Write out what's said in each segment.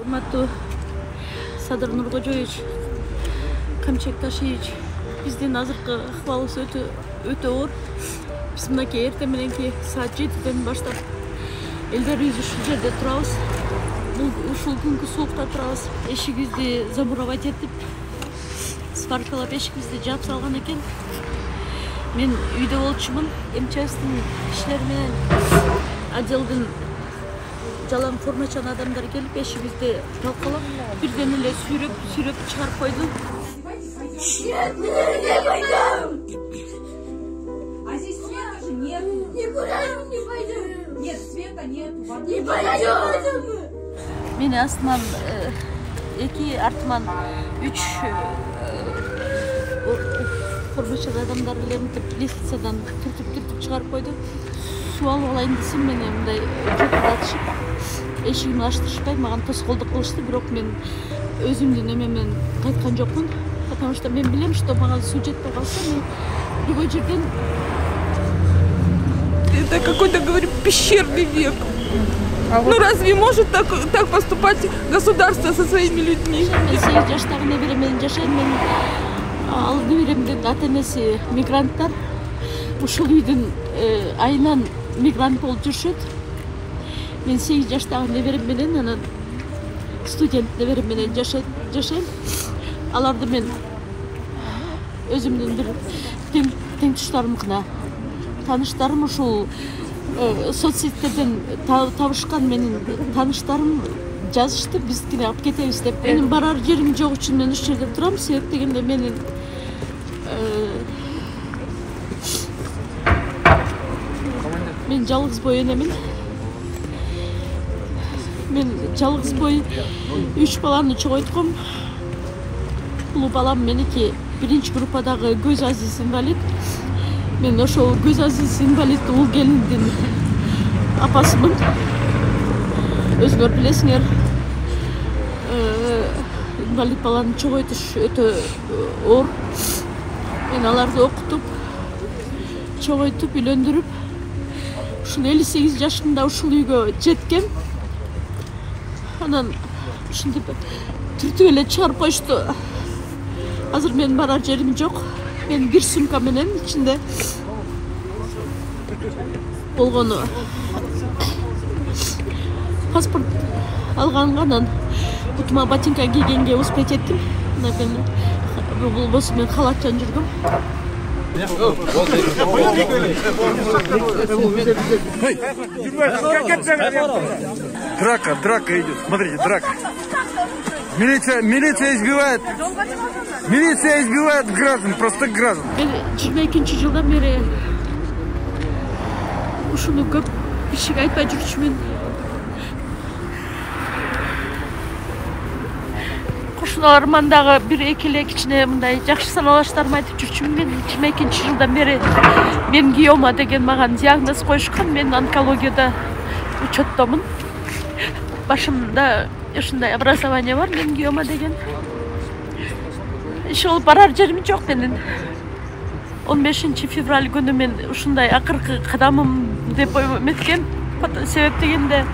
урматтуу Садыр Нуркожоевич, Камчек Ташиевич, биздин азыркы акыбалыбыз өтө оор. Биз мынакей эртең мененки саат 7ден баштап элдерибиз ушул жерде турабыз. Ушул күнгү суукта турабыз. Эшигибизди замуровать этип, сваркалап эшигибизди жаап салган экен. Мен үйдө болчумун. МЧСтин иштери менен отделдин жалаң формачан адамдар келип эшигибизди талкалап, бирден эле сүйрөп чыгарып койду. А здесь света же нет. Никуда не пойдем. Нет, света нет. Не пойдем. Мени астынан 2, артыман 3 формачан адамдар эле мынтип лестницадан түртүп чыгарып койду. Суу алып алайын десем, мени мындай жотуратышып, эшигимди ачтырышпай маган тоскоолдук кылышты. Бирок мен өзүмдүн эмемен кайткан жокмун, потому что мен билем, что маган суу жетпей калса, мен любой жерден. Это какой-то, говорит, пещерный век. Ну разве может так поступать государство со своими людьми? Мен 8 жаштагы неберем менен жашайм. Мен ал неберемдин ата-энеси мигранттар. Ушул үйдүн айынан мигрант болуп жүрүшөт. Мен 8 жаштагы неберем менен, анан студент неберем менен жашайм. Аларды мен өзүмдүн бир тең туштарым гана, тааныштарым ушул соцсеттерден табышкан менин тааныштарым жазышты, биз кире алып кетебиз деп. Менин барар жерим жок үчүн мен ушул жерде турам. Себеп дегенде мен жалгыз бой энемин. Мен жалгыз бой 3 баланы чогойтком. Улуу балам меники 1-группадагы көз азиз инвалид. Мен ошол көз азиз инвалид уул келиндин апасымын. Өзүңөр билесиңер, инвалид баланы чогойтуш өтө оор. Мен аларды окутуп, чогойтуп, үйлөндүрүп, ушул 58 жашымда ушул үйгө жеткем. Анан ушинтип түртүп эле чыгарып коюшту. Азыр мен барар жерим жок. Мен бир сумка менен ичинде болгону паспорт алганга, анан бутума ботинка кийгенге успеть эттим. Мен болбосо мен халатчан жүргөм. Драка идет. Смотрите, драка. Милиция избивает. Милиция избивает граждан, простых граждан. Мен 22-жылдан бери ушуну көп кишиге айтпай жүрчүмүн. Кошуналарыман дагы 1-2 эле кичине мындай жакшы саналаштарымы айтып жүрчүмүн. Мен 22-жылдан бери менгиома деген маган диагноз коюшкан. Мен онкологияда учеттомун. Башымда ушундай образование бар, менгиома деген. Ишол барар жерим жок менин. 15 февраль күнү мен ушундай акыркы кадамым деп эметкем. Себеп дегенде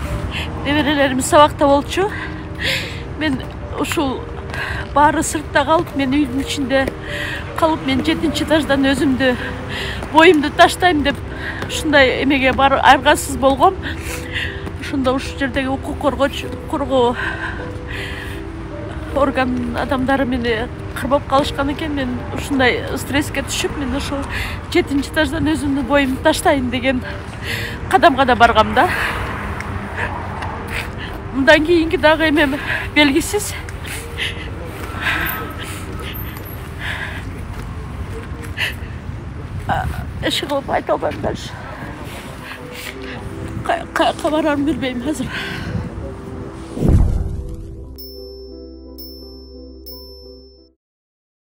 неберелерим сабакта болчу. Мен ушул баары сыртта калып, мен үйдүн ичинде калып, мен 7-этаждан өзүмдү боюмду таштайм деп ушундай эмеге бар аргасыз болгом. Ошондо ушул жердеги укук коргоо орган адамдары мени кырбап калышкан экен. Мен ушундай стресске түшүп, мен ошол 7-этаждан өзүмдүн боюмду таштайын деген кадамга да баргам да. Мындан кийинки дагы эмем белгисиз. Эши кылып айта албайм дальше. Кабарарымды билбейм азыр.